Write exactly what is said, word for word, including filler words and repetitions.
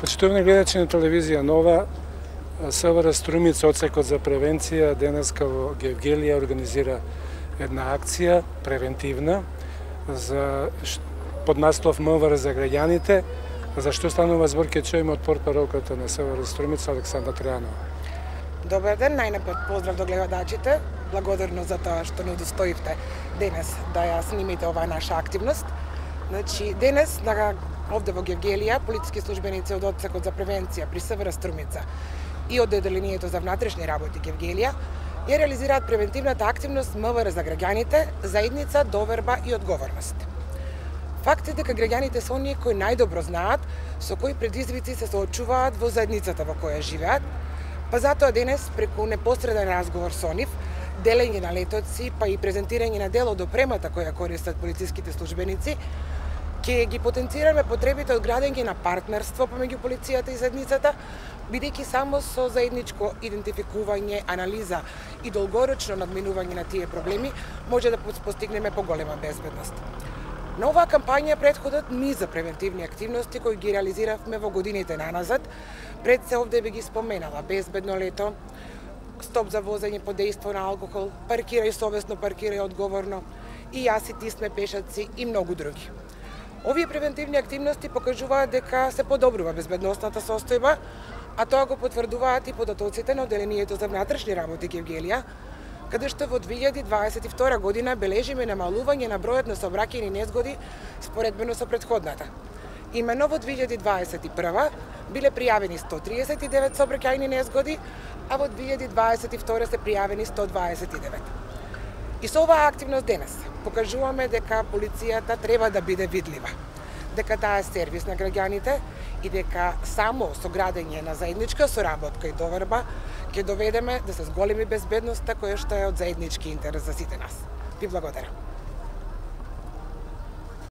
Почитувани гледачи на телевизија Нова, СВР Струмица, одсекот за превенција, денеска во Гевгелија организира една акција превентивна за под наслов МВР за граѓаните. За што станува збор, ќе чуеме од портпаролката на СВР Струмица Александра Тројанова. Добар ден, најнапред поздрав до гледачите. Благодарно за тоа што не удостоивте денес да ја снимите оваа наша активност. Значи, денес на овде во Гевгелија полициски службеници од одсекот за превенција при СВР Струмица и од Одделението за внатрешни работи Гевгелија ја реализираат превентивната активност МВР за граѓаните, заедница, доверба и одговорност. Факт е дека граѓаните се оние кои најдобро знаат со кои предизвици се соочуваат во заедницата во која живеат, па затоа денес преку непосреден разговор со нив, делење на летоци, па и презентирање на дел од опремата која користат полициските службеници, ќе ги потенцираме потребите од градење на партнерство помеѓу полицијата и заедницата, бидејќи само со заедничко идентификување, анализа и долгорочно надминување на тие проблеми може да постигнеме поголема безбедност. На оваа кампања претходат низ за превентивни активности кои ги реализиравме во годините наназад. Пред се овде би ги споменала: безбедно лето, стоп за возење под дејство на алкохол, паркирај совесно, паркирај одговорно, и јас и ти сме пешаци и многу други. Овие превентивни активности покажуваат дека се подобрува безбедносната состојба, а тоа го потврдуваат и податоците на Одделението за внатрешни работи Гевгелија, каде што во две илјади дваесет и втора година бележиме намалување на бројот на сообраќајни незгоди споредбено со претходната. Имено во две илјади дваесет и прва биле пријавени сто триесет и девет сообраќајни незгоди, а во две илјади дваесет и втора се пријавени сто дваесет и девет. И со оваа активност денес покажуваме дека полицијата треба да биде видлива, дека таа е сервис на граѓаните и дека само со градење на заедничка соработка и доверба ќе доведеме да се зголеми безбедноста која што е од заеднички интерес за сите нас. Ви благодарам.